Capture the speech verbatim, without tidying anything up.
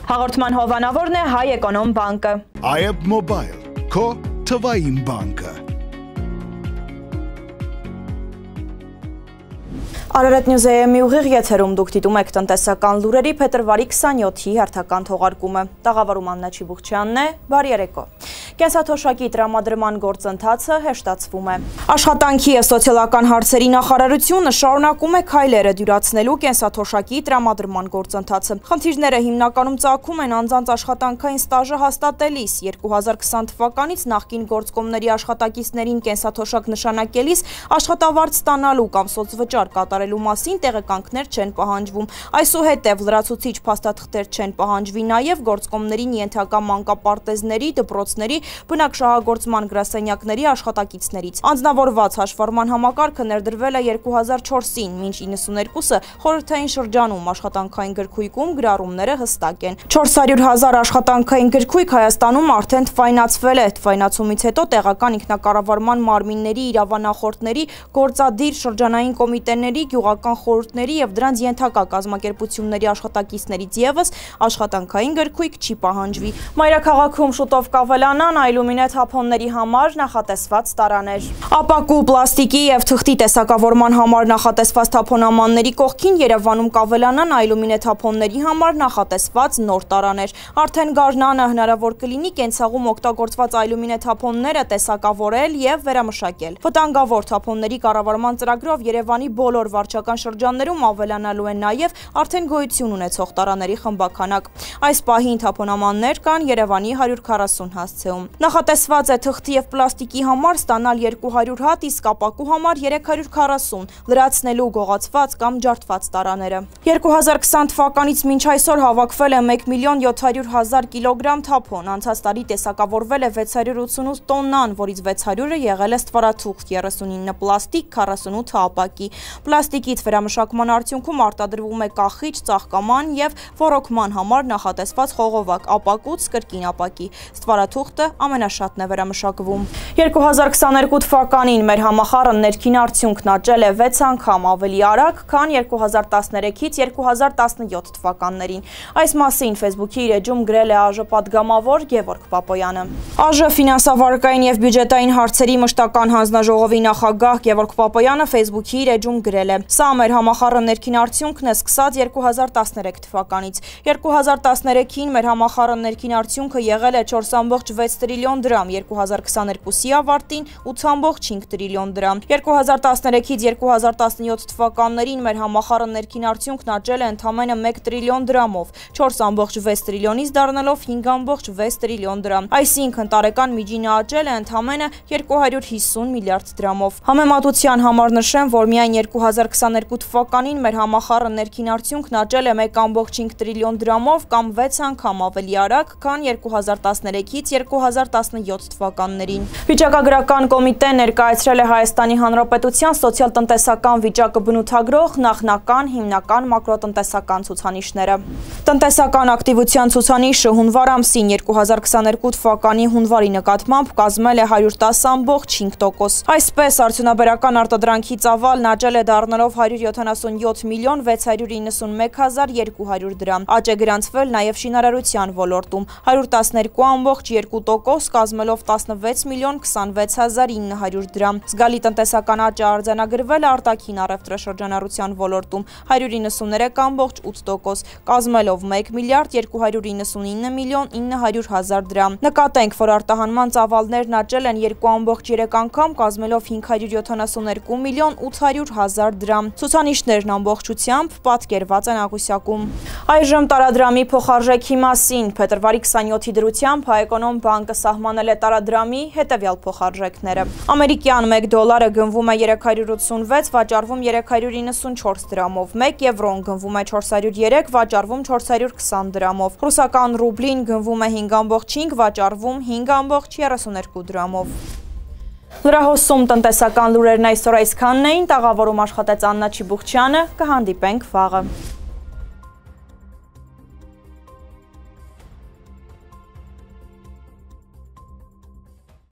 Հաղորդման հովանավորն է Հայ Էկոնոմ բանկը։ Այբ Մոբայլ, քո թվային բանկը։ Արարատ Նյուզեյեմի ուղիղ եթերում դուք դիտում եք տնտեսական լուրերի փետրվարի քսանյոթի հերթական թողարկումը։ Տաղավարում Աննա Չիբուխչյանն է, բարի երեկո։ Կենսաթոշակի տրամադրման գործընթացը հեշտացվում է։ Աշխատանքի և սոցիալական հարցերի նախարարությունը շարունակում է քայլերը դյուրացնելու կենսաթոշակի տրամադրման գործընթացը։ Խնդիրները հիմնականում ծագում են անձանց աշխատանքային ստաժը հաստատելիս։ երկու հազար քսան թվականից նախկին գործկոմների աշխատակիցներին կենսաթոշակ նշանակելիս աշխատավարձ ստանալու կամ սոցվճար կատարելու մասին տեղեկանքներ չեն պահանջվում։ Այսուհետև լրացուցիչ փաստաթղթեր չեն պահանջվի նաև գործկոմներին ենթակա մանկապարտեզների, դպրոցների, բնակչահաղորդման գրասենյակների աշխատակիցներից։ Անձնավորված հաշվառման համակարգը ներդրվել է երկու հազար չորսին, մինչ իննսուններկուսը խորհրդային շրջանում աշխատանքային գրքույկում գրառումները հստակ են։ չորս հարյուր հազար աշխատանքային գրքույկ Հայաստանում արդեն թվայնացվել է։ Թվայնացումից հետո տեղական ինքնակառավարման մարմինների, իրավանախորդների, գործադիր շրջանային կոմիտեների, գյուղական խորհուրդների և դրանց ենթակա կազմակերպությունների աշխատակիցներից ևս աշխատանքային գրքույկ չի պահանջվի։ Մայրաքաղաքում շուտով կավելանան այլումինե թափոնների համար նախատեսված տարաներ։ Ապակու, պլաստիկի և թղթի տեսակավորման համար նախատեսված թափոնամանների կողքին Երևանում կավելանան այլումինե թափոնների համար նախատեսված նոր տարաներ։ Արդեն գարնանը հնարավոր կլինի կենցաղում օգտագործված այլումինե թափոնները տեսակավորել և վերամշակել։ Վտանգավոր թափոնների կառավարման ծրագրով Երևանի բոլոր վարչական շրջաններում ավելանալու են նաև արդեն գոյություն ունեցող տարաների խմբաքանակ։ Այս պահին թափոնամաններ կան Երևանի հարյուր քառասուն հասցեում։ Նախատեսված է թղթի և պլաստիկի համար ստանալ երկու հարյուր հատ, իսկ ապակու համար երեք հարյուր քառասուն, լրացնելու գողացված կամ ջարդված տարաները։ երկու հազար քսան թվականից մինչ այսօր հավաքվել է մեկ միլիոն յոթ հարյուր հազար կիլոգրամ թափոն, անցած տարի տեսակավորվել է վեց հարյուր ութսունութ տոննան, որից վեց հարյուրը եղել է ստվարաթուղթ, երեսունինը պլաստիկ, քառասունութը ապակի։ Պլաստիկից վերամշակման արդյունքում արտադրվում է կախիչ, ծաղկաման և ոռոգման համար նախատեսված խողովակ, ապակուց կրկին ապակի։ Ստվարաթուղթը ամենաշատն է վերամշակվում։ երկու հազար քսաներկու թվականին մեր համախառն ներքին արդյունքն աճել է վեց անգամ ավելի արագ, քան երկու հազար տասներեքից երկու հազար տասնյոթ թվականներին։ Այս մասին Facebook-ի իր էջում գրել է ԱԺ պատգամավոր Գևորգ Պապոյանը։ ԱԺ ֆինանսավարկային և բյուջետային հարցերի մշտական հանձնաժողովի նախագահ Գևորգ Պապոյանը Facebook-ի իր էջում գրել է. «Սա մեր համախառն ներքին արդյունքն է սկսած երկու հազար տասներեք թվականից։ երկու հազար տասներեքին մեր համախառն ներքին արդյունքը եղել է չորս ամբողջ վեց տրիլիոն դրամ, երկու հազար քսաներկուսի ավարտին ութ ամբողջ հինգ տրիլիոն դրամ։ երկու հազար տասներեքից երկու հազար տասնյոթ թվականներին մեր համախառն ներքին արդյունքն աճել է ընդամենը մեկ տրիլիոն դրամով, չորս ամբողջ վեց տրիլիոնից դառնալով հինգ ամբողջ վեց տրիլիոն դրամ։ Այսինքն տարեկան միջինը աճել է ընդամենը երկու հարյուր հիսուն միլիարդ դրամով։ Համեմատության համար նշեմ, որ միայն երկու հազար քսաներկու թվականին մեր համախառն ներքին արդյունքն աճել է մեկ ամբողջ հինգ տրիլիոն դրամով կամ վեց անգամ ավելի արագ, քան երկու հազար տասներեքից երկու հազար տասնյոթ թվականներին։ Վիճակագրական կոմիտեն ներկայացրել է Հայաստանի Հանրապետության սոցիալ-տնտեսական վիճակը բնութագրող նախնական հիմնական մակրոտնտեսական ցուցանիշները։ Տնտեսական ակտիվության ցուցանիշը հունվար ամսին երկու հազար քսաներկու թվականի հունվարի նկատմամբ կազմել է հարյուր տասը ամբողջ հինգ տոկոս։ Այսպես արդյունաբերական արտադրանքի ծավալն աճել է դառնալով հարյուր յոթանասունյոթ միլիոն վեց հարյուր իննսունմեկ հազար երկու հարյուր դրամ։ Աճ է գրանցվել նաև շինարարության ոլորտում հարյուր տասներկու ամբողջ երկու տոկոս կազմելով տասնվեց միլիոն քսանվեց հազար ինը հարյուր դրամ։ Զգալի տնտեսական աճ է արձանագրվել արտաքին առևտրաշրջանառության ոլորտում հարյուր իննսուններեք ամբողջ ութ տոկոս կազմելով մեկ միլիարդ երկու հարյուր իննսունինը միլիոն ինը հարյուր հազար դրամ։ Նկատենք, որ արտահանման ծավալներն աճել են երկու ամբողջ երեք անգամ կազմելով հինգ հարյուր յոթանասուններկու միլիոն ութ հարյուր հազար դրամ։ Ցուցանիշներն ամբողջությամբ պատկերված են աղյուսակում։ Այժմ տարադրամի փոխարժեքի մասին փետրվարի քսանյոթի դրությամբ Հայ Էկոնոմ բանկը սահմանել է տարադրամի հետևյալ փոխարժեքները։ Ամերիկյան մեկ դոլարը գնվում է երեք հարյուր ութսունվեց, վաճառվում երեք հարյուր իննսունչորս դրամով, մեկ եվրոն գնվում է չորս հարյուր երեք, վաճառվում չորս հարյուր քսան դրամով, ռուսական ռուբլին գնվում է հինգ ամբողջ հինգ, վաճառվում հինգ ամբողջ երեսուներկու դրամով։ Լրահոսում տնտեսական լուրերն այսօր այսքանն էին, տաղավարում աշխատեց Աննա Չիբուխչյանը, կհանդիպենք վաղը։